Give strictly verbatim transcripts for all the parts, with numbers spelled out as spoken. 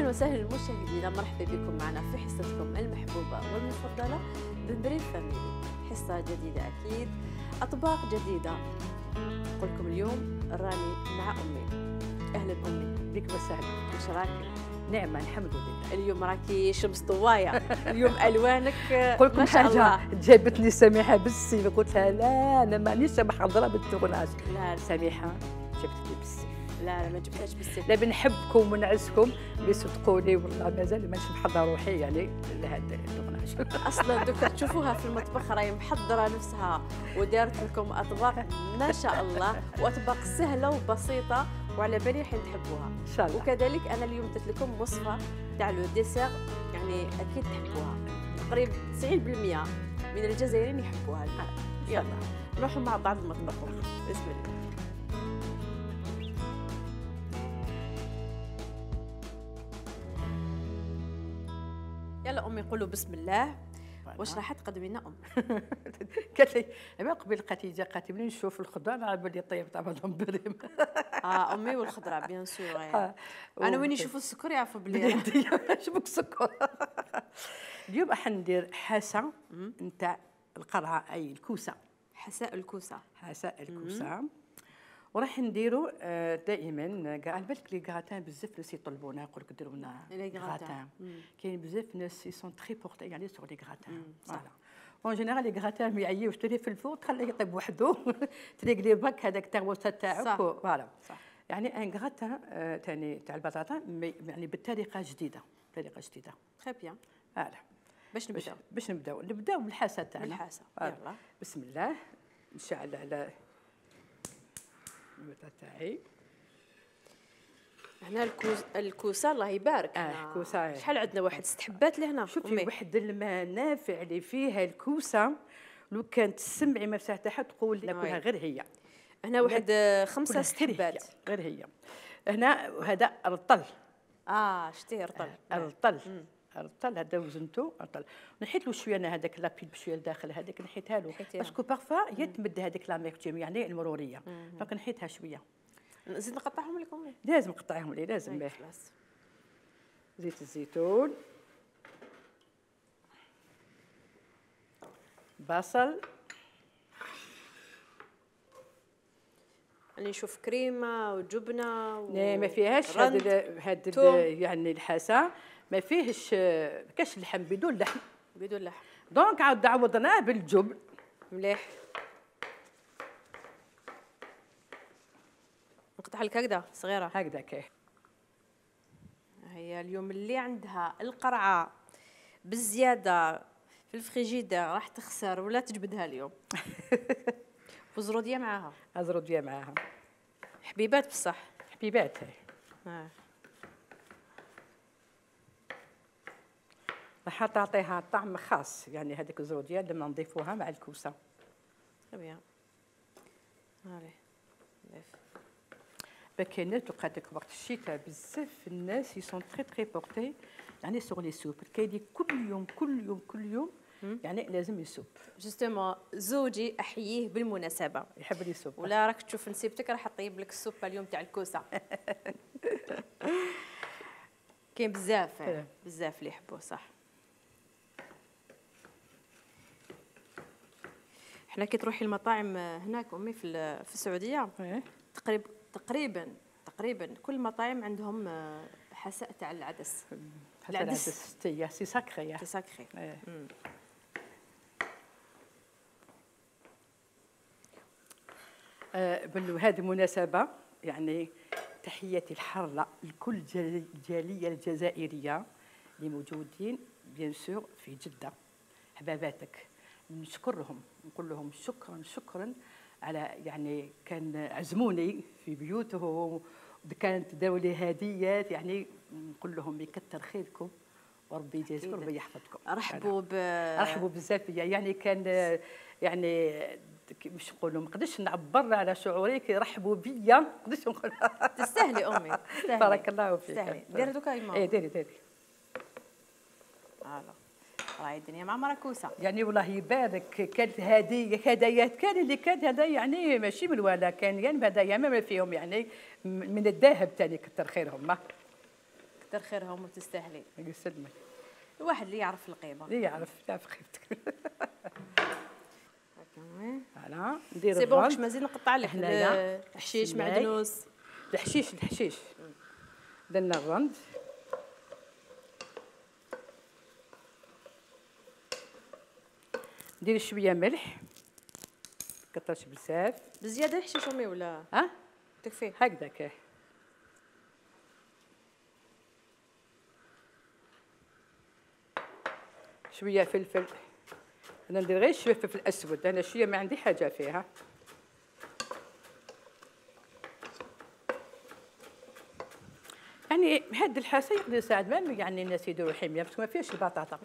اهلا وسهلا مشاهدينا، مرحبا بكم معنا في حصتكم المحبوبه والمفضله بمبريم فاميلي. حصه جديده اكيد، اطباق جديده. نقول لكم اليوم راني مع امي. اهلا امي. بك وسهلا. واش راكي؟ نعمه الحمد لله. اليوم راكي شمس طوايه، اليوم الوانك نقول لكم ما شاء الله. حاجه جابتني سميحه بالسيف، قلت لها لا انا مانيش محضره بالتغناج. لا سميحه جابتني بالسيف. لا لا ما جبتهاش بالسيف. لا بنحبكم ونعزكم، بصدقوني والله مازال مانيش محضره روحي يعني لهذا التغناج. اصلا دوكا تشوفوها في المطبخ راهي محضره نفسها ودارت لكم اطباق ما شاء الله، واطباق سهله وبسيطه وعلى بالي حين تحبوها ان شاء الله. وكذلك انا اليوم درت لكم وصفه تاع لو ديسير، يعني اكيد تحبوها. تقريبا تسعين بالمئة من الجزائريين يحبوها. يلا نروحوا مع بعض المطبخ. بسم الله. يلا امي قولوا بسم الله. واش راح تقدمي لنا ام؟ قالت لي ما قبل خديجه قالت لي نشوف الخضره على بالي طيب طبعا بريم. اه امي والخضره بيان سور. يعني انا وين يشوفوا السكر يعرفوا بلي شبك سكر. اليوم راح ندير حاسه نتاع القرعه، اي الكوسه. حساء الكوسه. حساء الكوسه. وراح نديروا دائما كاع على بالك لي غراتان بزاف ناس يطلبونا يقول لك ديروا لنا غراتان. كاين بزاف ناس سون تري بورتي يعني سور لي غراتان. فوالا اون جينيرال لي غراتان ما يعيوش تري في الفور تخليه يطيب وحده، تريقلي باك هذاك تاع الوسط تاعك. فوالا يعني ان غراتان ثاني تاع البطاطا يعني بطريقه جديده، بطريقه جديده. تري بيان. فوالا باش نبداو باش نبداو نبداو بالحاسه تاعنا. بالحاسه يلا بسم الله. نشعل على البطاطا تاعي. هنا الكوس الكوسه الله يبارك. اه كوسه شحال عندنا؟ واحد ست حبات لهنا. شوفي واحد الماء نافع اللي فيها الكوسه، لو كانت تسمعي ما تاعها تقول ناكلها غير هي. هنا واحد خمسه ست حبات غير هي. هنا هذا رطل. اه شتيه رطل. رطل رطل هذا وزنته رطل. نحيت له شويه انا هذاك لابيل بشويه لداخل هذاك نحيتها له باسكو بارفا يتمد هذيك لاميرتيوم يعني المروريه، دونك نحيتها شويه. نزيد نقطعهم لكم؟ لازم نقطعهم لي لازم به. زيت الزيتون، بصل، راني نشوف كريمه وجبنه و... لا ما فيهاش هاد هاد يعني الحاسه ما فيهش كاش اللحم، بدون لحم بدون لحم. دونك عاود عوضناه بالجبن. مليح. نقطع لك هكذا صغيره هكذا كي هي. اليوم اللي عندها القرعه بالزياده في الفريجيدير راح تخسر ولا تجبدها اليوم. وزروديه معاها. زروديه معاها حبيبات بصح حبيبات هاي. اه راح تعطيها طعم خاص يعني هذيك الزروديه لما نضيفوها مع الكوسه. بيان. هاي كاينات وقعت لك وقت الشتاء بزاف الناس يسون تري تري بورتي يعني سوغ لي سوب. كاين كل يوم كل يوم كل يوم يعني لازم يسوب. جوستومون زوجي احييه بالمناسبه يحب لي سوب، ولا راك تشوف نسيبتك راح طيب لك السوبه اليوم تاع الكوسه. كاين بزاف بزاف اللي يحبوه صح. حنا كي تروحي المطاعم هناك امي في في السعوديه تقريبا تقريبا تقريبا كل المطاعم عندهم حساء تاع العدس. العدس تاع سي ساكري سي ساكري. بهذه المناسبه يعني تحياتي الحاره لكل الجاليه الجزائريه اللي موجودين بيان سور في جده، حباباتك. نشكرهم نقول لهم شكرا شكرا على يعني كان عزموني في بيوتهم وكانت داو لي هديات، يعني نقول لهم يكثر خيركم وربي يجازيكم وربي يحفظكم. رحبوا ب رحبوا بزاف بيا يعني كان يعني باش نقولوا ما نقدرش نعبر على شعوري كي رحبوا بيا، ما نقدرش نقول. تستاهلي امي تستاهلي. بارك الله فيك. تستاهلي. ديري دوكا يما. اي ديري ديري. فوالا راهي الدنيا معمره كوسه يعني والله يبارك. كانت هديه هدايات كان اللي كانت هذا يعني ماشي من ولا كان يعني هدايا ما فيهم يعني من الذهب ثاني كثر خيرهم. كثر خيرهم وتستاهلي. يسلمك. الواحد اللي يعرف القيمه. اللي يعرف يعرف قيمتك. هكا فوالا ندير سي بون باش مازال نقطع لك هنايا الحشيش معدنوس. الحشيش الحشيش درنا الرند. ندير شويه ملح، كثرش بزاف بزياده الحشيش امي ولا ها تكفي هكذاك. شويه فلفل، انا ندير غير شويه فلفل اسود، انا شويه ما عندي حاجه فيها. يعني هاد الحاسه يقدر يساعد ما يعني الناس يديروا حميه بس ما فيهاش البطاطا.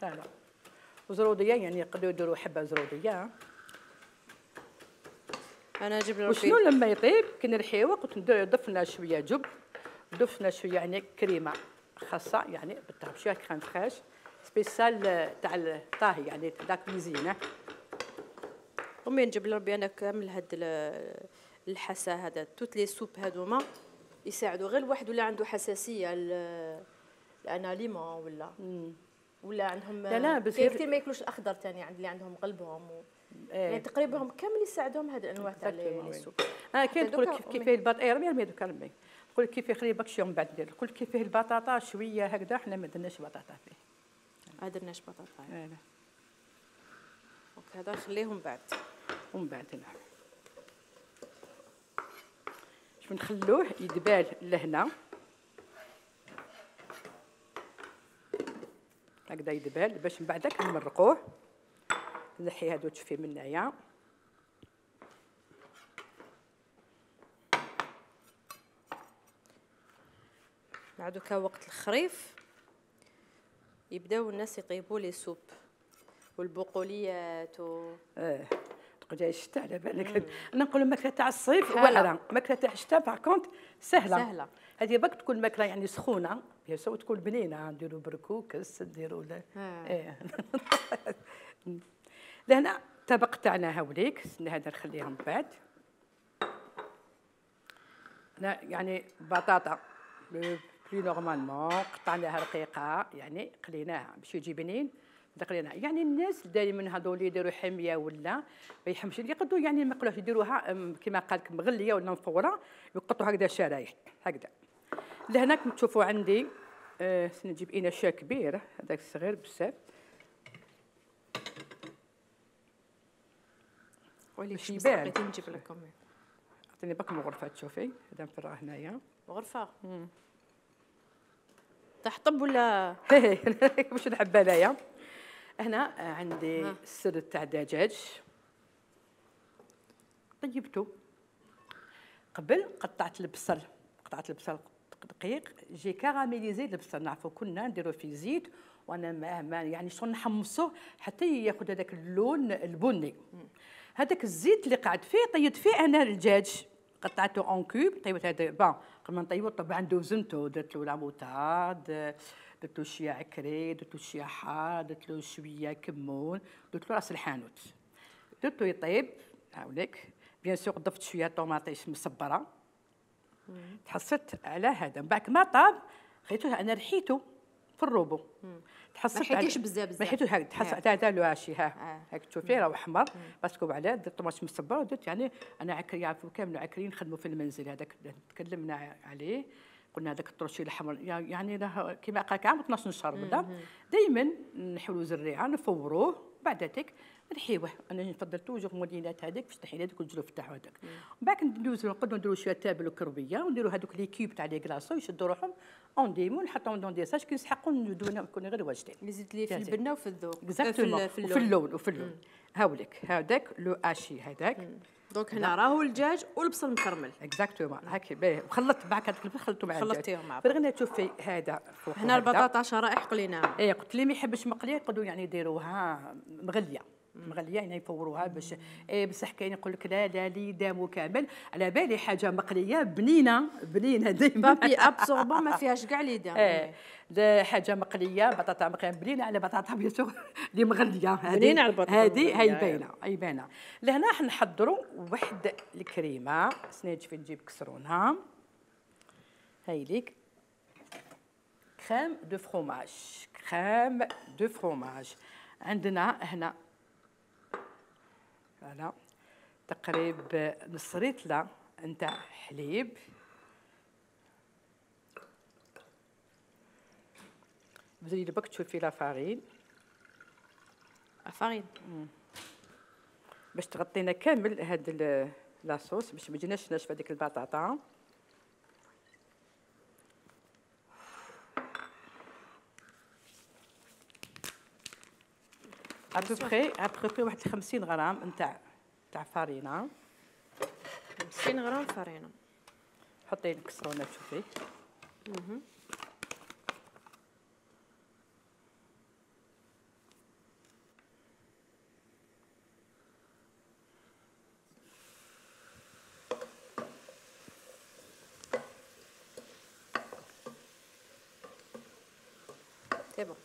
لا لا وزروديه يعني يقدروا يديروا حبه زروديه. انا اجيب له وشنو لما يطيب كي نرحيوه قلت ندير ضفنا شويه جبن، ضفنا شويه يعني كريمه خاصه يعني بالطبع شويه كريم فريش سبيسال تاع الطاهي يعني تاع كوزينه. امي نجيب لربي انا كامل هاد الحسا هذا توت لي سوب هذوما يساعدوا غير الواحد ولا عنده حساسيه الاناليمون ولا مم. ولا عندهم لا لا بس كثير ما ياكلوش الاخضر ثاني عند اللي عندهم قلبهم و... ايه. يعني تقريبا هم كامل يساعدوهم هاد الانواع تاع لي سوب. اه كاين تقول لك كيفاه البطاطا رمي رمي دوك رمي نقول لك كيفاه خلي باكشي من بعد ندير نقول لك كيفاه البطاطا شويه هكذا حنا ما درناش بطاطا فيه. ما درناش بطاطا. لا لا دونك هذا نخليهم بعد ومن بعد نعم شوف نخلوه يدبال لهنا هكذا يدبال باش من بعدك نمرقوه نحي هادو تشوفي من هنايا. بعدو كا وقت الخريف يبداو الناس يطيبوا لي سوب والبقوليات و اه تقول الشتاء على بالك انا نقول الماكله تاع الصيف واعره الماكله تاع الشتاء باغ كونت سهله سهله هذه باك تكون ماكله يعني سخونه بيان سو تكون بنينه نديروا بركوكس نديروا لا ايه لهنا الطبق تاعنا هاوليك هذا نخليه من بعد. انا يعني بطاطا بلي نورمالمون قطعناها رقيقه يعني قليناها باش يجي بنين قليناها يعني الناس دائما هذول يديروا حميه ولا ما يحمش يقدروا يعني ما يقولوش يديروها كما قال لك مغليه ولا مفوره يقطعوا هكذا شرايح هكذا. لهناك تشوفوا عندي آه نجيب اناء كبير هذاك الصغير بزاف ولي شي بغيت نجيب لكم عطيني باك من الغرفه تشوفي هذا نفرغ هنايا غرفه تحطب ولا باش نحب انايا. هنا عندي السر تاع الدجاج طيبته قبل قطعت البصل قطعت البصل دقيق جي كاراميليزي البصل نعرفوا كنا نديرو في زيت وانا ما, ما يعني شغل نحمصوه حتى ياخذ هذاك اللون البني. هذاك الزيت اللي قعد فيه طيبت فيه انا الدجاج قطعته اون كوب طيبت هذا بون قبل ما نطيبو طبعا دوزنتو درت له لا موتاد درت له شويه عكري درت له شويه حار درت له شويه كمون درت له راس الحانوت درتو يطيب هاوليك بيان سور ضفت شويه طوماطيش مصبره تحصلت على هذا من بعد ما طاب خليته انا رحيته في الروبو تحصلت ما حيتيش بزاف بزاف ما حيتوش هكا تحصلت هذا لو هاشي ها هاك تشوفي راه احمر باسكو علاه درت طوماط مصبر ودرت يعني انا عكري يعرفوا كامل عكريين نخدموا في المنزل هذاك تكلمنا عليه قلنا هذاك الطرشي الاحمر يعني راه كيما قال لك عام اثناش شهر بدا دائما نحولوا زريعه نفوروه بعد ذاك نحيوه انا نفضل توجور مولينات هذيك باش تحينا هذوك الجلوف تاعو هذاك ومن بعد ندوزو نقدروا نديروا شويه تابل وكربيه ونديروا هذوك لي كيوب تاع لي كلاصو يشدوا روحهم اون ديمون نحطهم دون دي ساج كي نسحقوا ندونا نكون غير واجدين نزيد لي في البنه وفي الذوق اكزاكتومون وفي اللون وفي اللون هاوليك هذاك لو اشي هذاك دونك هنا راهو الدجاج والبصل مكرمل اكزاكتومون هاك باهي وخلطت معك هذاك البصل خلطته مع الدجاج خلطتيهم مع بعض غير تشوفي هذا فوق هنا البطاطا شرائح قليناها اي قلت لي ما يحبش مقليه يقدروا يعني يديروها مغليه مغليه يعني يفوروها باش اي بصح كاين يقول لك لا لا لي دامو كامل على بالي حاجه مقليه بنينه بنينه ديما بابي ابسوربون ما فيهاش كاع لي دام ايه حاجه مقليه بطاطا مقليه بنينه على بطاطا بيسو اللي مغليه بنينه على البطاطا هذه هي باينه هي باينه. لهنا حنحضروا واحد الكريمه سنيج في نجيب كسرونها هاي ليك كريم دو فروماج كريم دو فروماج. عندنا هنا فوالا تقريب نص ريتله نتاع حليب، بدي برك تشوفي لا فارين الفارين باش تغطينا كامل هاد لاصوص باش ما تجيناش ناشفه ديك البطاطا. ابوبخي ابوبخي واحد خمسين غرام نتاع تاع فارينه. خمسين غرام فارينه. حطي الكسرونه تشوفي. اها سي بون.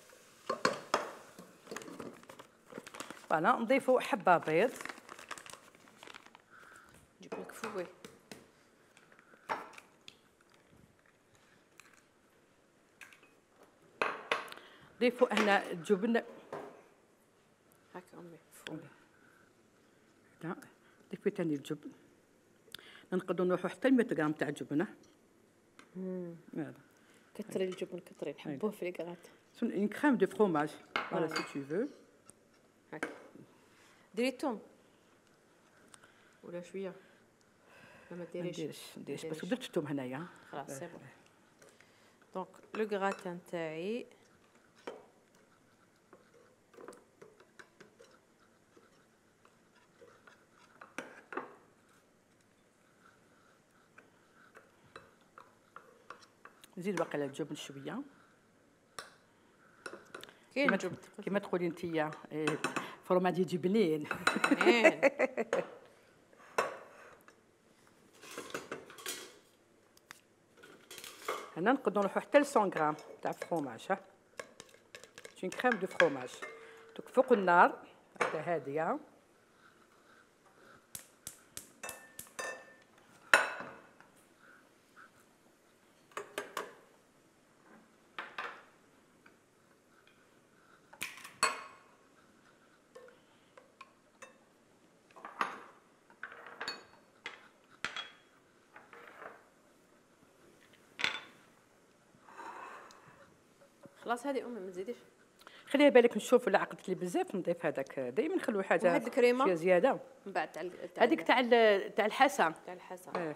فوالا نضيفوا حبه بيض. نجيب لك فوي. ضيفوا هنا الجبن هكا امي فوي. لا ضيفوا ثاني الجبن. نقدروا نروحوا حتى مية غرام تاع الجبنه. امم فوالا كثري الجبن كثري نحبوه في الكرات. une crème de fromage voilà si tu veux. هكا ديري الثوم ولا شويه ما ديريش. ما نديرش نديرش بس درت الثوم هنايا خلاص سي بون. دونك لو غراتان تاعي نزيد باقي على الجبن شويه كاين كيما جبن كيما تقولي انتيا فروماج يجي بنين. هنا نقدروا نروحوا حتى ل مية غرام تاع فروماج. ها اون كريم دو فروماج. دوك فوق النار هكا هاديه. خلاص هذه امي ما تزيديش. خليها بالك نشوف الا عقدت لي بزاف نضيف هذاك دائما نخلو حاجه وهاد الكريمة؟ شويه زياده. من بعد تاع هذيك تاع ال- تاع الحسا. تاع الحسا. اه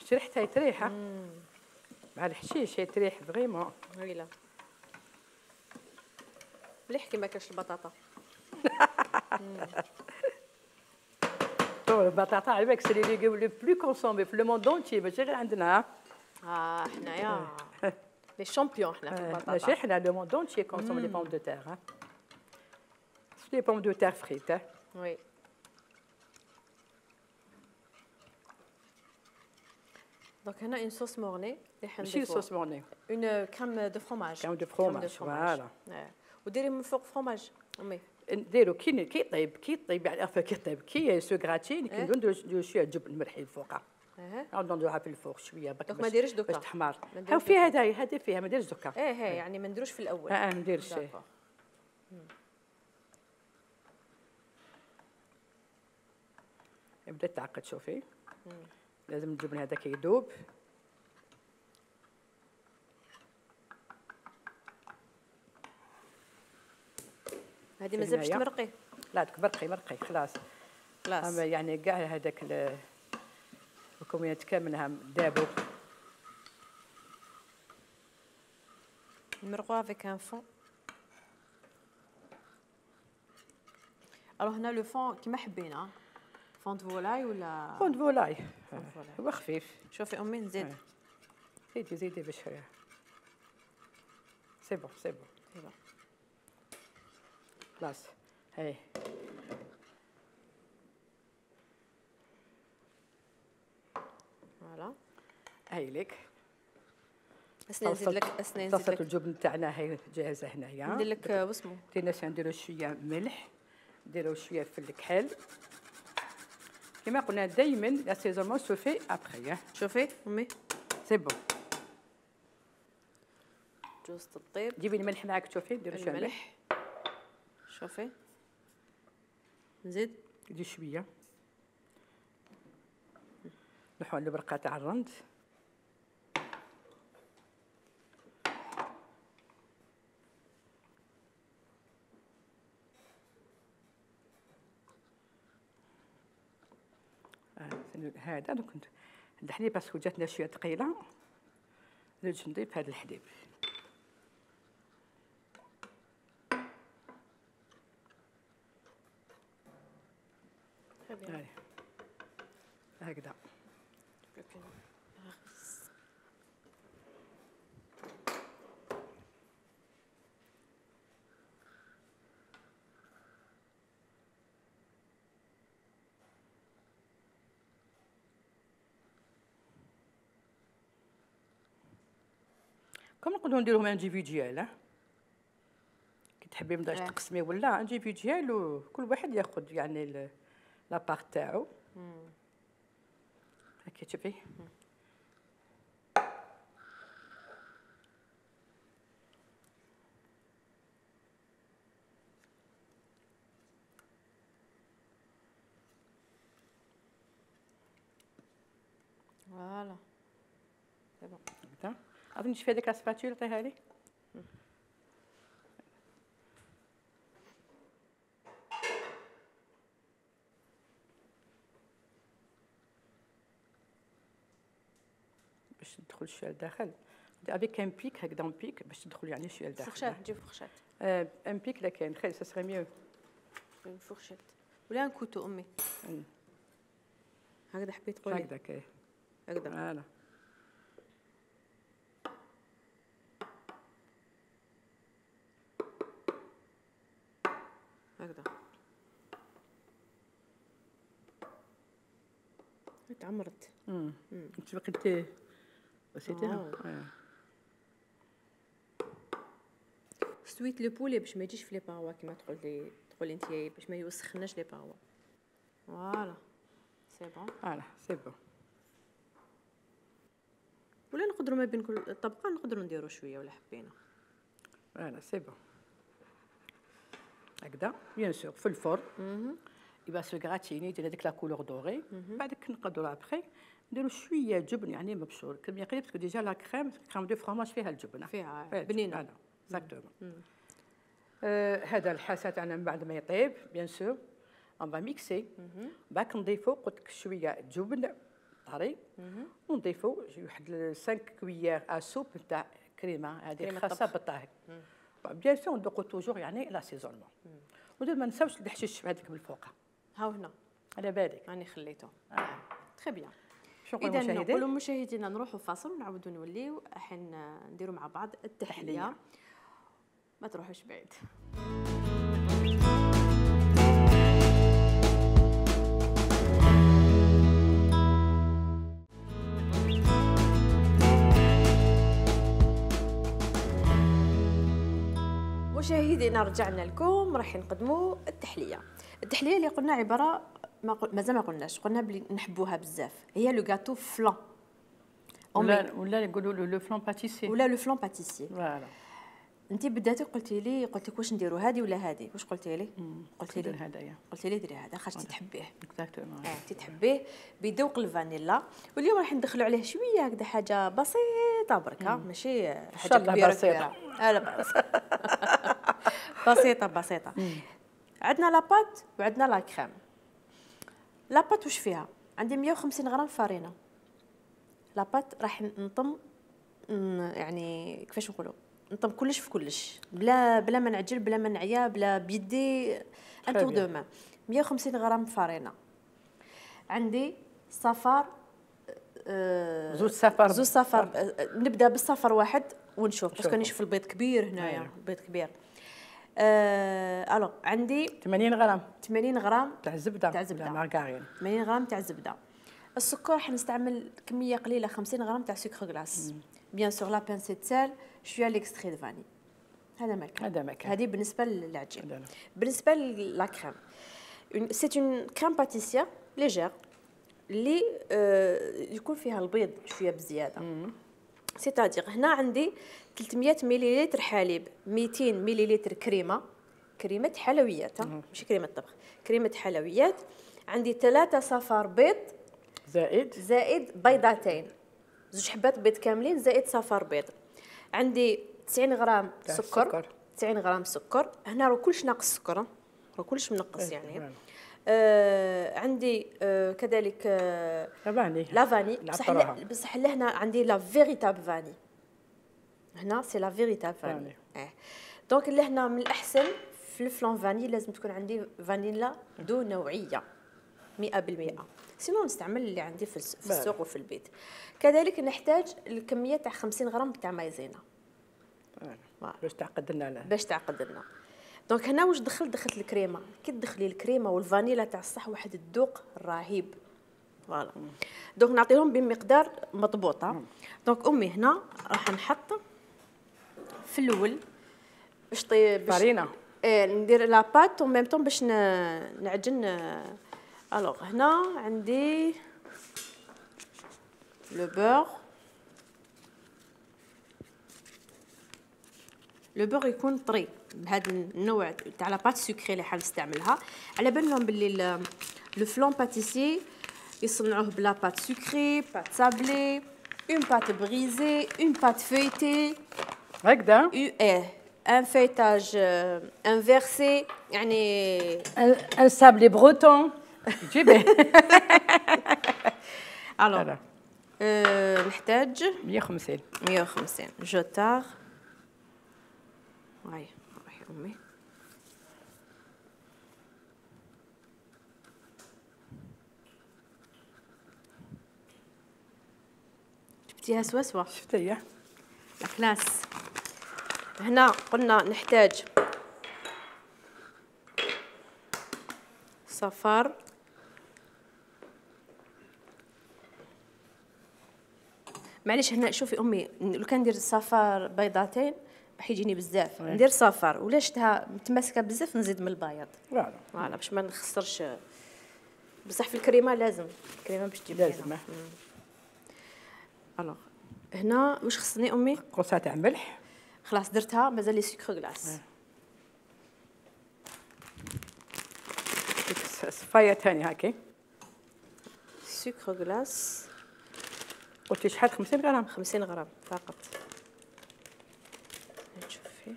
شي ريحتها تريح مع الحشيش هي تريح فريمون. ويلا مليح كي ما كاش البطاطا. تو البطاطا على بالك سي لي ليغوم لو بلو كونسومي في لو موند اونتي ماشي غير عندنا. اه حنايا لي شامبيون حنا في البطاطا. ماشي حنا لو موند اونتي كونسوم لي بوم دو تير. ها لي بوم دو تير فريت. وي دونك هنا اون صوص مورني اللي ماشي حنديرو صوص مورني اون كريم دو فروماج. كريم دو فروماج فوالا. وديري من فوق فروماج امي. نديرو كي كي يطيب كي يطيب يعني عفوا كي يطيب كي سو غراتين كي نديرو شويه جبن ملحي الفوقه. اها نديروها في الفوق شويه باش دونك ما ديريش دوكا باش تحمر. ما نديروش هاو فيها هذا هذا فيها ما ديرش دوكا. ايه ايه يعني ما نديروش في الاول. اه اه ما نديرش. داكور. بدات تعقد شوفي. لازم الجبن هذاك يذوب. هذه مازال باش هنايا. تمرقي. لا دوك مرقي مرقي خلاص. خلاص اما يعني كاع هذاك المكونات كاملها دابوا. نمرقوها افيك ان فون. الوغ هنا لو فون كيما حبينا فون دو فولاي ولا فون فولاي فولاي. هو خفيف. شوفي امي نزيد. آه. زيدي زيدي باش سي بون سي بون ايوا خلاص. هاي فوالا. هاي لك اسني نزيد لك اسني طاسه نزيد لك الجبن تاعنا هاي جاهزه هنايا. ندير لك واسمو تينا نديرو شويه ملح نديرو شويه في الكحل كما قلنا دائما لاسيزونمون سو في ابخي. شوفي امي سي بون. جوز الطيب جيبي الملح معاك تشوفي ديري شويه الملح. شوفي نزيد دي شويه نحو البرقه تاع الرند. هذا دوك الحليب باسكو جاتنا شويه ثقيله نرجع نضيف هذا الحليب. هاي هكذا. كما نقدروا نديروهم انديفيديال. كي تحبي مداش تقسمي ولا انديفيديال وكل واحد ياخذ يعني لابارت تاعو. هاكي تشوفي فوالا سي بون. هكذا. عاودي نشوفي هذيك السباتول عطيها لي. باش تدخل شويه لداخل افيك ان بيك هكذا ان بيك باش تدخل يعني شويه لداخل. فرشات نجيب فرشات. اه ان بيك لا كاين خير سا سري ميو. اون فرشات ولا ان كوتو امي. هكذا حبيت تقولي هكذا كاين هكذا. فوالا هكذا تعمرت. امم انت بقيتي وسيتيها. سويت لو بولي باش ما يجيش في لي باغوا كيما تقولي تقولي انت باش ما يوسخناش لي باغوا. فوالا سي بون. فوالا سي بون. ولا نقدروا ما بين كل طبقه نقدروا نديروا شويه ولا حبينا. فوالا سي بون. هكذا بيان سور في الفرن يبقى سو غراتيني يدير هذيك لا كولور دوري. بعدك نقدروا ابخي نديروا شويه جبن يعني مبشور كميه قليله باسكو ديجا لا كريم كريم دو فرماج فيها الجبنه فيها بنينه. اكزاكتومون. هذا الحاسه تاعنا من بعد ما يطيب بيان سور اون فا ميكسي. باك نضيفوا قلت لك شويه جبن طري ونضيفوا واحد خمسة كويير ا سوب تاع كريمه هذه خاصه بالطهي. بيان سور ندوقوا توجور يعني لاسيزونمون. ودير ما نساوش الحشيش هذيك من الفوق. ها هنا على بالك راني خليته. اه تري بيان. شكرا اذا نقولوا مشاهدينا نروحوا فاصل ونعاودوا نوليو الحين نديروا مع بعض التحليه. ما تروحوش بعيد. مشاهدينا رجعنا لكم راح نقدموا التحليه. التحليه اللي قلنا عباره ما قل... مازال ما قلناش قلنا بلي نحبوها بزاف هي لو غاتو فلان ولا ولا نقولوا لو فلان باتيسي ولا لو فلان باتيسي. فوالا انت بداتي قلتي لي قلت لك واش نديروا هذه ولا هذه واش قلتي لي؟ قلتي لي هذايا قلتي لي ديري هذا خاطر تحبيه. اكزاكتومون. اه انت تحبيه بذوق الفانيلا. واليوم راح ندخلوا عليه شويه هكذا حاجه بسيطه بركه ماشي حاجه كبيره كبيره. لا بسيطه بسيطه بسيطه. عندنا لاباط وعندنا لا كريم. لاباط واش فيها؟ عندي مية وخمسين غرام فارينه. لاباط راح نطم يعني كيفاش نقولوا نطم كلش في كلش بلا بلا ما نعجل بلا ما نعيا بلا بيدي ان تور دو مان. مية وخمسين غرام فارينه. عندي صفار أه زوج صفار زوج صفار. أه نبدا بالصفر واحد ونشوف باسكو نشوف البيض كبير هنايا. البيض كبير. أه الو عندي ثمانين غرام ثمانين غرام تاع الزبده تاع الزبده مارغارين. ثمانين غرام تاع الزبده. السكر حنستعمل كميه قليله خمسين غرام تاع سكر غلاس. بيان سور لا بانسيت سال شويه ليكستري دو فاني. هذا ما كان هذا ما كان. هذه بالنسبه للعجين. بالنسبه للا كريم سيت اون كريم باتيسير ليجير اللي آه يكون فيها البيض شويه بزياده. سيتادير هنا عندي ثلاثمية مليلتر حليب، مئتين مليلتر كريمه، كريمه حلويات ماشي كريمه طبخ، كريمه حلويات. عندي ثلاثة صفار بيض زائد زائد بيضتين، زوج حبات بيض كاملين زائد صفار بيض. عندي تسعين غرام سكر, سكر تسعين غرام سكر. هنا راه كلش ناقص سكر، راه كلش منقص يعني. آه عندي آه كذلك آه لافاني لافاني بصح بصح لهنا عندي لا فيريتاب فاني، هنا سي لا فيريتاب فاني. اه دونك لهنا من الاحسن في الفلون فاني لازم تكون عندي فانيلا دو نوعيه مئة بالمئة، سينو نستعمل اللي عندي في السوق وفي البيت. كذلك نحتاج الكميه تاع خمسين غرام تاع مايزينا باش تعقد لنا باش تعقد لنا. دونك هنا واش دخلت دخلت الكريمه، كي تدخلي الكريمه والفانيلا تاع الصح واحد الذوق رهيب. فوالا دونك نعطيهم بمقدار مضبوطه. دونك امي هنا راح نحط في الاول باش طيب فارينه ايه ندير لا بات و ميم طون باش نعجن. الوغ هنا عندي لو بور، لو بور يكون طري بهذا النوع تاع لا بات سكري اللي حنستعملها. على بالهم باللي لو فلون باتيسي يصنعوه بلا بات سكري، بات سابلي، اون بات بريزي، اون بات فيتي هكذا. ايه ان فيتاج انفيرسي يعني ان سابلي بروتون جيبيه. الو أه نحتاج مئة وخمسين مئة وخمسين جوتار. هاي روحي امي جبتيها سوا سوا شفتيها لا كلاس. هنا قلنا نحتاج صفار معليش. هنا شوفي امي لو كان ندير صفار بيضتين راح يجيني بزاف، ندير صفار ولا شفتها متماسكه بزاف نزيد من البياض. فوالا فوالا باش ما نخسرش. بصح في الكريمه لازم الكريمه باش تجيب لازم. الوغ هنا واش خصني امي؟ قرصه تاع ملح. خلاص درتها، مازال لي سكر غلاس. صفايه ثاني هاكي سكر غلاس. قلتي شحال؟ خمسين غرام. خمسين غرام فقط. شوفي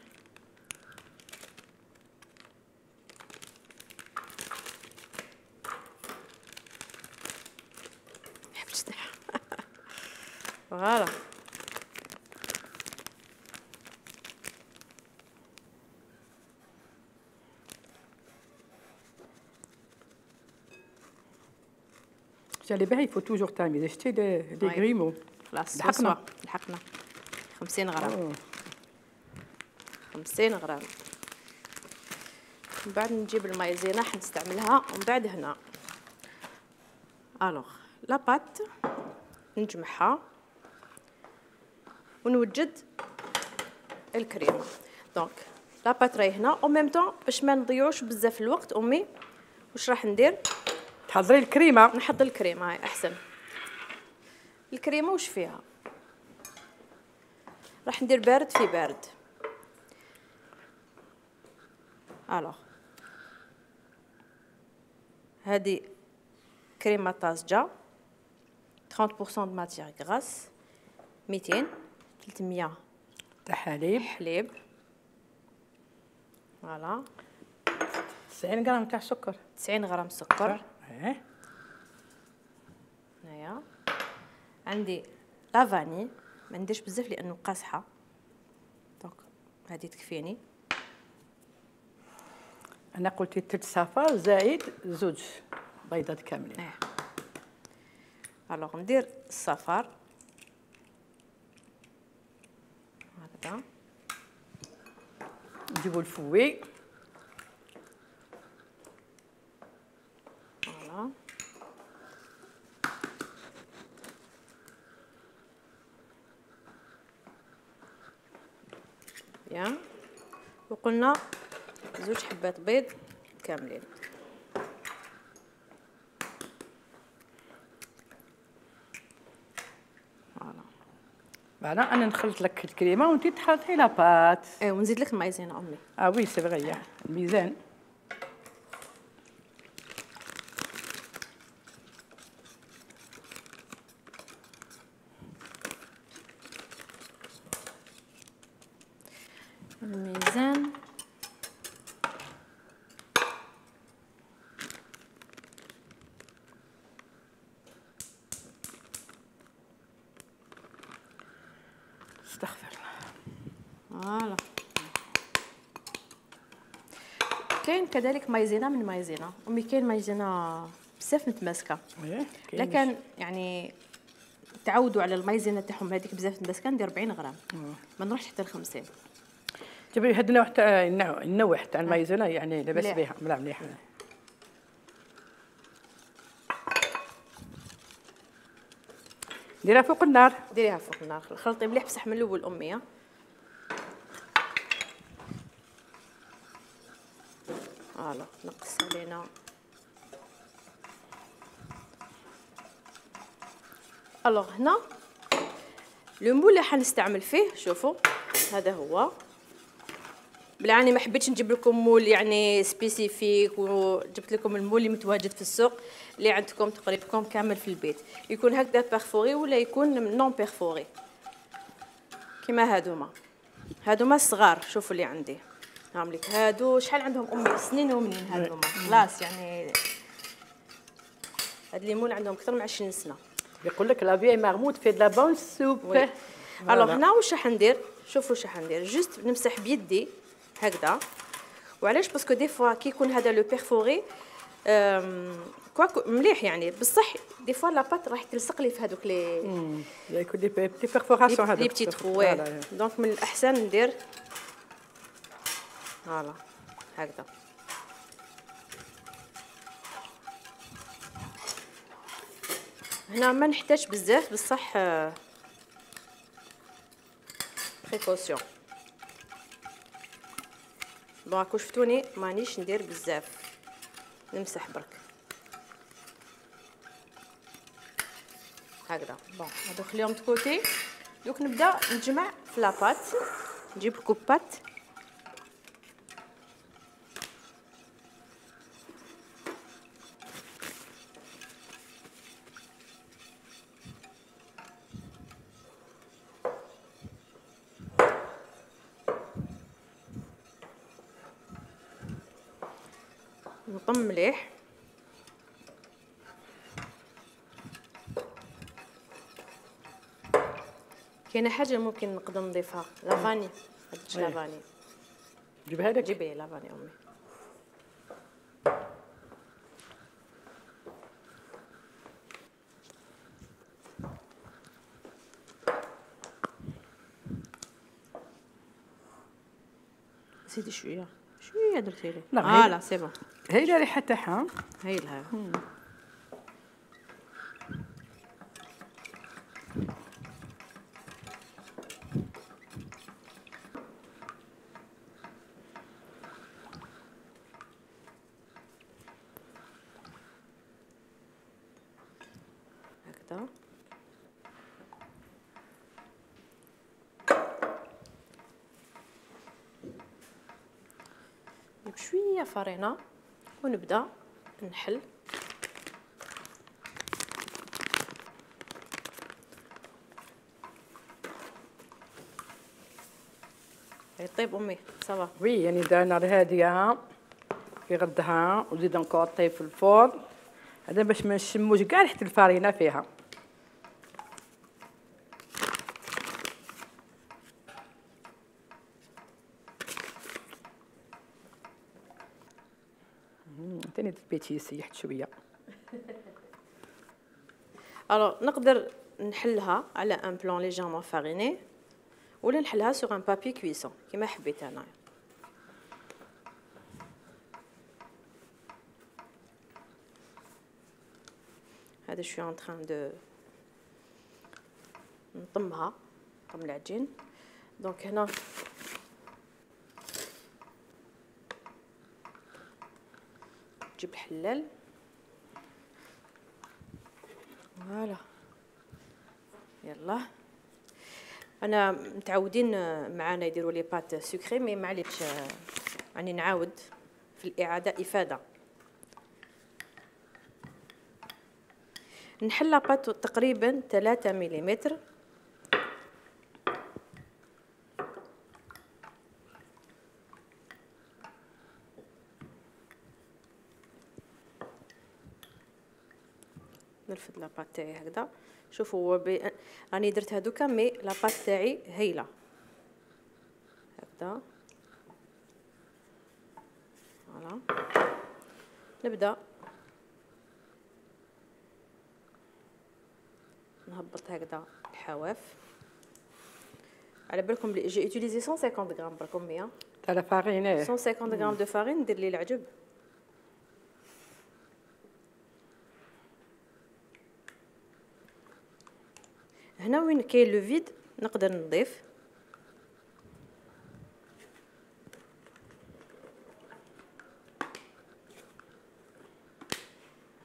حبستها. فوالا جالي باهي يفو توجور تامي شتي لي غريمو. خلاص لحقنا لحقنا خمسين غرام. أوه. خمسين غرام. من بعد نجيب المايزينا حنستعملها ومن بعد هنا الوغ لا بات نجمعها ونوجد الكريمه. دونك لا بات راهي هنا او ميم طون باش ما نضيعوش بزاف الوقت. امي واش راح ندير؟ تحضري الكريمه. نحضر الكريمه هاي احسن. الكريمه واش فيها؟ راح ندير بارد في بارد. الوغ هذه كريمه طازجه ثلاثين بالمئة د ماتيير غراس، مئتين ثلاثمية تاع حليب حليب. فوالا تسعين غرام تاع سكر. تسعين غرام سكر. ايه هنايا عندي لا فاني ما نديرش بزاف لانه قاصحه، دونك هذه تكفيني. انا قلت ثلث صفار زائد زوج بيضات كاملين. اه الوغ ندير الصفار هكذا. نجيبو الفوي. فوالا يا وقلنا زوج حبات بيض كاملين. فوالا انا نخلط لك الكريمه وانت تحطي لاباط. ايه ونزيد لك المايزينا امي. اه وي سي فغي الميزان. الميزان. استغفر الله. فوالا. كاين كذلك مايزينا من مايزينا امي، كاين مايزينا بزاف متماسكه، لكن يعني تعودوا على المايزينا تاعهم هذيك بزاف متماسكه، ندير أربعين غرام ما نروحش حتى ل خمسين. جيبي هاد النوع تاع النوع تاع المايزينا يعني لاباس بها ملا مليح. ديرها فوق النار. ديريها فوق النار، خلطي مليح بصح من الاول امي. فوالا نقص علينا. الوغ هنا لو مول اللي حنستعمل فيه، شوفوا هذا هو. بالعاني ما حبيتش نجيب لكم مول يعني سبيسيفيك، وجبت لكم المول اللي متواجد في السوق اللي عندكم تقريبا كامل في البيت، يكون هكذا بيرفوري ولا يكون نون بيرفوري كيما هادوما. هادوما الصغار شوفوا اللي عندي هاهم لك. هادو شحال عندهم امي سنين ومنين هادوما خلاص يعني هاد الليمون عندهم اكثر من عشرين سنه. يقول لك لا فيي مرموت في لا بون سوب. الوغ هنا واش راح ندير؟ شوفوا واش راح ندير، جوست نمسح بيدي هكذا. وعلاش؟ باسكو دي فوا كي يكون هذا لو بيرفوري كواك مليح يعني، بصح دي فوا لاباط راح تلصق لي في هذوك لي يكون لي بيتي بيرفوراسيون هذوك لي بتي ترو. دونك من الاحسن ندير فوالا هكذا. هنا ما نحتاج بزاف بصح بريكوسيون. بون كون شفتوني مانيش ندير بزاف، نمسح برك هكذا. بون هادو خليهم تكوتي. دوك نبدا نجمع في لاباط. نجيب الكوبات نطم مليح. كاينه حاجه ممكن نقدر نضيفها، لافاني. هادشي لافاني. جيبها لك. جيبي لافاني امي. زيدي شويه شويه درتي لي. اه لا سي بون. هايله الريحه تاعها. هايلها. هكذا. بشويه فرينه ونبدا نحل. يطيب امي صافا. وي يعني دار نار هاديه يغدها وزيد انكور طيب في الفرن. هذا باش ما نشموش كاع ريحه الفرينه فيها. ثاني بيتي سيحت شويه. الو نقدر نحلها على ان بلون ليجيرمون فاريني ولا نحلها سور ان بابي كويسون كيما حبيت انا. هذا شويه ان تران دو نطمها نطم العجين. دونك هنا نجيب الحلال. فوالا يلا انا متعودين معانا يديروا لي بات سكري، مي معليش يعني نعاود في الاعاده افاده. نحل لاباط تقريبا ثلاثة مليمتر. نرفد لاباط تاعي هكذا. شوفوا هو بي... راني درت هذوكا، مي لاباط تاعي هايله هكذا. فوالا نبدا نهبط هكذا الحواف. على بالكم بلي جي اوتيليزي مية وخمسين غرام بركم مية تاع لا فارين. مية وخمسين غرام دو فارين. ندير لي العجب. هنا وين كاين لو فيد نقدر نضيف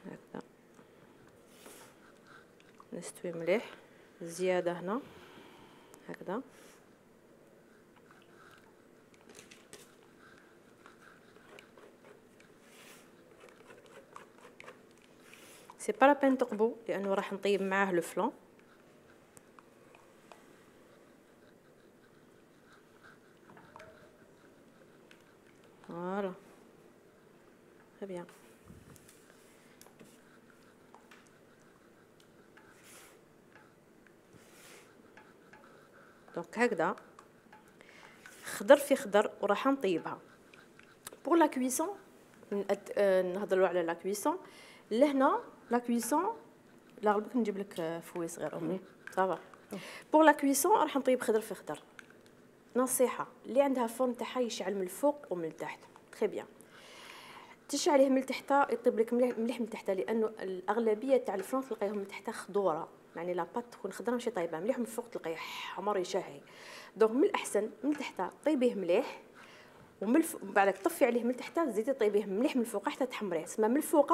هكذا. نستوي مليح. زياده هنا هكذا. سي با لا بين تقبو لانه راح نطيب معاه لو فلان. فوالا très bien. دونك هكذا خضر في خضر وراح نطيبها. بور لا كويسون نهضروا على لا كويسون. لهنا لا كويسون لا غلبك نجيب لك فوي صغير امي صافا. بور لا كويسون راح نطيب خضر في خضر. نصيحه اللي عندها فرن تاعها يشعل من الفوق ومن التحت. تري بيان. تشعليه من التحت يطيب لك مليح مليح من التحت، لانه الاغلبيه تاع الفرن تلقايهم من التحت خضوره، يعني لاباط تكون خضره ماشي طايبه مليح. من الفوق تلقايه حمر يشهي. دونك من الاحسن من التحت طيبيه مليح، ومن الف... بعدك طفي عليه من التحت زيدي طيبيه مليح من الفوق حتى تحمريه. تسمى من الفوق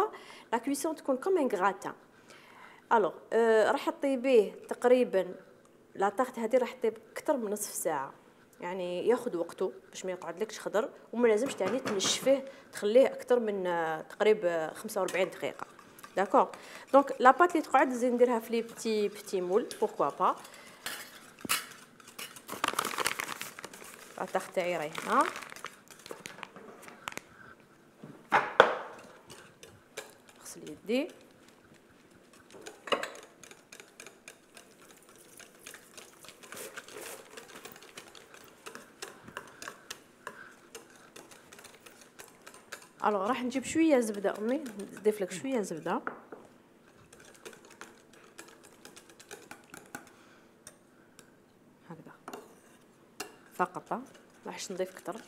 لا كويسون تكون كوم ان غراتان. الوغ أه راح تطيبيه تقريبا لا طاغت هذه راح تطيب اكثر من نصف ساعه، يعني ياخذ وقته باش ما يقعدلكش خضر، وما لازمش تاني تنشفيه تخليه اكثر من تقريبا خمسة وأربعين دقيقه. داكور. دونك لاباط اللي تقعد زيد نديرها في لي بتي بتي مول بوركوا با. الطاغ تاعي راهي هنا. نغسل يدي. الو راح نجيب شويه زبده امي، نضيف لك شويه زبده. هكذا فقط، راحش نضيف كتر.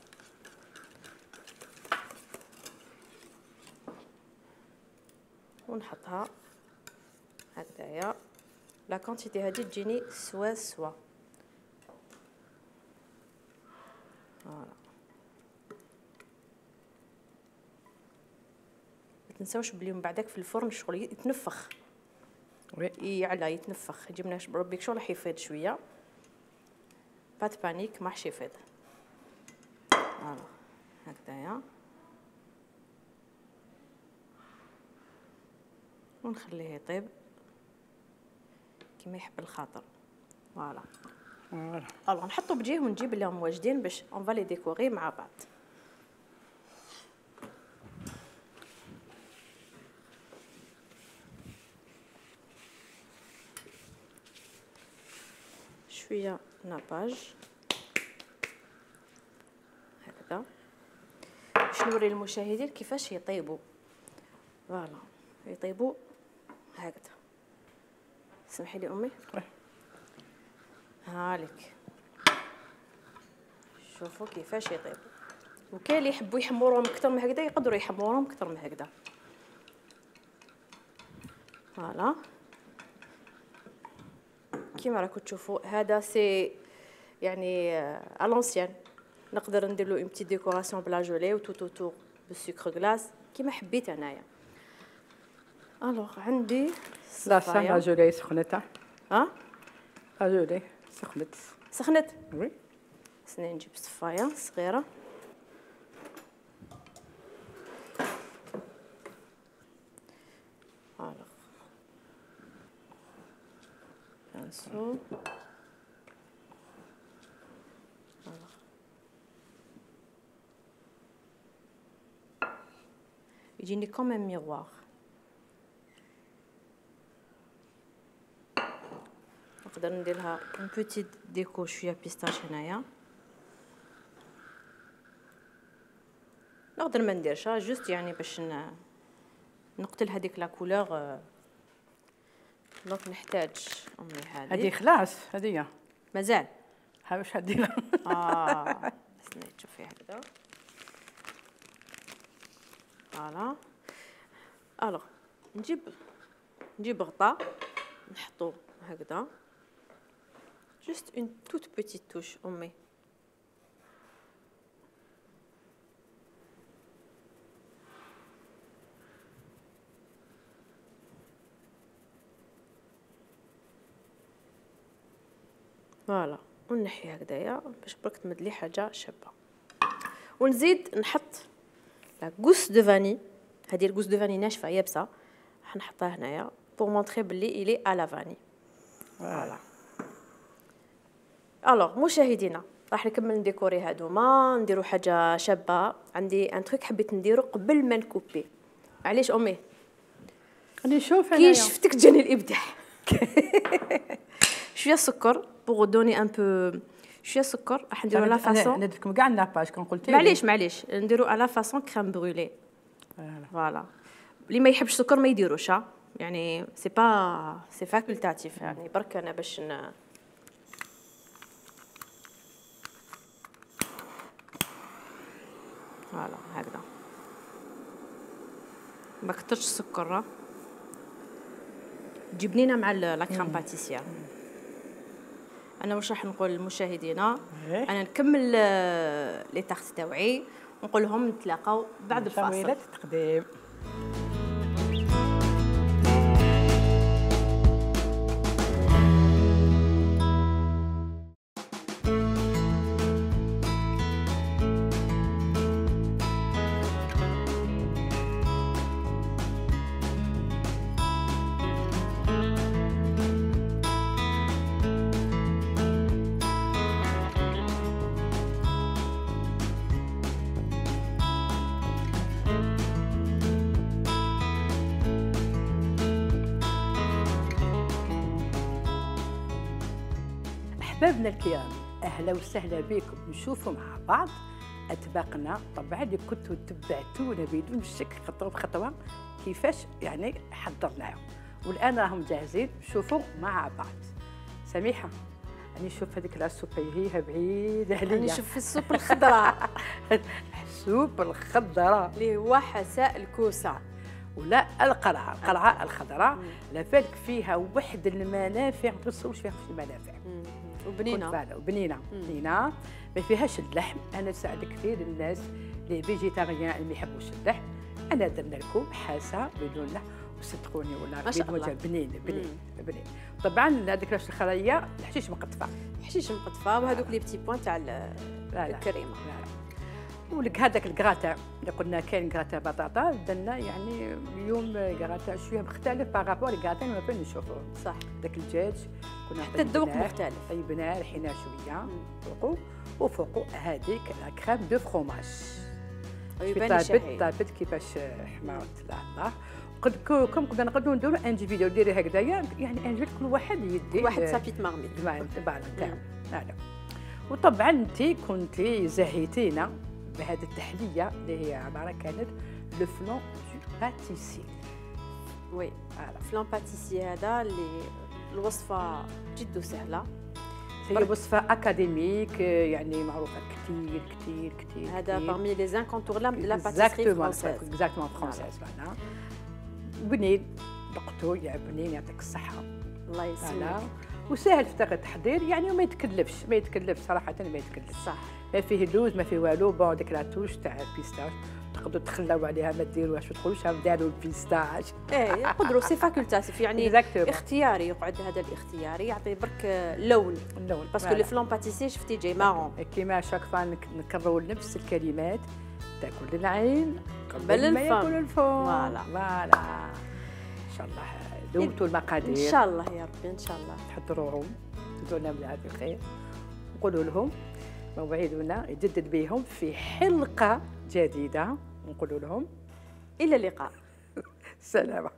ونحطها هكذايا. لا كونتيتي هذه تجيني سوا سوا. فوالا. تنساوش بلي من بعدك في الفرن شغل يتنفخ. وي يعلى يتنفخ. جبنا بربي شغل راح يفيض شويه. بات بانيك ما راحش يفيض. فوالا هكذايا. ونخليه يطيب كيما يحب الخاطر. فوالا. فوالا. الو نحطو بجيه ونجيب لهم واجدين باش اون فالي ديكوري مع بعض. شويه ناباج هكذا باش نوري للمشاهدين كيفاش يطيبوا. فوالا يطيبوا هكذا. سمحي لي امي. هالك شوفوا كيفاش يطيبوا. وكاين اللي يحبوا يحمروهم اكثر من هكذا يقدروا يحمروهم اكثر من هكذا. فوالا كيما راكم تشوفوا هذا سي يعني ا لونسيان. نقدر ندير له اون بتي ديكوراسيون بلا جولي وتو تو تو بالسكر غلاس كيما حبيت انايا. الوغ عندي لا لا جولي سخنت. ها لا جولي سخنت. سخنت. وي. خصني نجيب صفايه صغيره. فوالا. نسو. يجيني كوم ميغوار. نقدر نديرها اون بوتيت ديكو شويه بيستاش هنايا. نقدر ما نديرشها جوست يعني باش نقتل هذيك لا كولور. دونك نحتاج امي هذه. هذه خلاص هذه مازال. ها واش هديرها. اه استني تشوفي هكذا. فوالا. الوغ نجيب نجيب غطاء نحطو هكذا. جوست اون توت بوتيت توش امي. فوالا ونحي هكذايا باش برك تمد لي حاجه شابه. ونزيد نحط لا غوس دو فاني. هذه الغوس دو فاني ناشفه يابسه راح نحطها هنايا بور مونطري بلي الي ا لا فاني. فوالا. الوغ مشاهدينا راح نكمل نديكوري هادوما نديرو حاجه شابه. عندي ان تروك حبيت نديرو قبل ما نكوبي. معليش امي راني نشوف كي انايا شفتك جاني الابداع. شويه سكر بوغ دوني ان بو. شويه سكر راح نديرو لا فاصون. نديركم كاع الناباج كون قلتي معليش معليش نديرو على فاصون كريم برويلي. فوالا. اللي ما يحبش السكر ما يديروش يعني سي با سي فاكولتاتيف يعني برك انا باش ن... فوالا هكذا ما كترش السكر. تجي بنينه مع لا كريم باتيسير. انا واش راح نقول للمشاهدين انا نكمل لي تارت تاوعي ونقول لهم نتلاقاو بعد الفاصل. التقديم. أحبابنا الكرام أهلا وسهلا بكم. نشوفوا مع بعض أطباقنا طبعا اللي كنتوا تبعتونا بدون شك خطوة بخطوة كيفاش يعني حضرناهم، والآن راهم جاهزين. شوفوا مع بعض. سميحة أنا نشوف هذيك السوبة هي بعيدة عليا. أنا نشوف السوب الخضراء. السوب الخضراء اللي هو حساء الكوسة ولا القرعة. القرعة الخضراء لا بالك فيها واحد المنافع ما تصورش فيها في المنافع. وبنينه وبنينه بنينه ما فيهاش اللحم. انا ساعد كثير الناس لي فيجيتاريان اللي ما يحبوش اللحم. انا درنا لكم حاسه بدون لحم وصدقوني ولا بدون بنين بنين بنين. طبعا هذيك الخريه الحشيش مقطفه حشيش مقطفه وهذوك لي بتي بوين تاع الكريمه. ولك هذاك الكراتا اللي قلنا كاين كراتا بطاطا درنا يعني اليوم كراتا شويه مختلف بارابور للكراتا اللي ما كنا نشوفوه. صح. داك الدجاج كنا حتى الذوق مختلف. طيبناه رحيناه شويه فوقو وفوقو هذيك لا كريم دو فروماج. يبان شهي. طابت كيفاش حماوت الله. قد كم كنا نقدروا نديروا ان فيديو ديري هكذايا يعني ان كل واحد يدي واحد سابيت مارميت تبع تاعو. هذا. وطبعا انت كنتي زهيتينا بهذه التحليه اللي هي عباره كانت لو فلون دو باتيسي. وي فلون باتيسي هذا اللي الوصفه جد سهله. هي وصفه اكاديميك يعني معروفه كثير كثير كثير. هذا parmi les incontournables de la pâtisserie française. exactement française voilà. بنين دقتو يا بنين يعطيك الصحه. الله يسلمك. وسهل في التحضير يعني وما يتكلفش ما يتكلفش صراحه ما يتكلفش. صح. ما فيه لوز ما فيه والو. بون ديك لاتوش تاع البيستاش تقدروا تخلاو عليها ما ديروهاش ما تقولوش داروا البيستاش. ايه يقدروا سي فاكولتاتيف يعني Exactement. اختياري، يقعد هذا الاختياري يعطي برك لون، اللون باسكو لي فلون باتيسي شفتي جاي مارون. كيما شاك فوا نكرروا نفس الكلمات، تاكل العين قبل ما الفم. ياكل الفم. فوالا. فوالا ان شاء الله دومتوا المقادير ان شاء الله يا ربي ان شاء الله. تحضروهم تدونا بالعافيه الخير، نقولوا لهم موعدنا يجدد بهم في حلقه جديده، نقولوا لهم الى اللقاء. سلامه.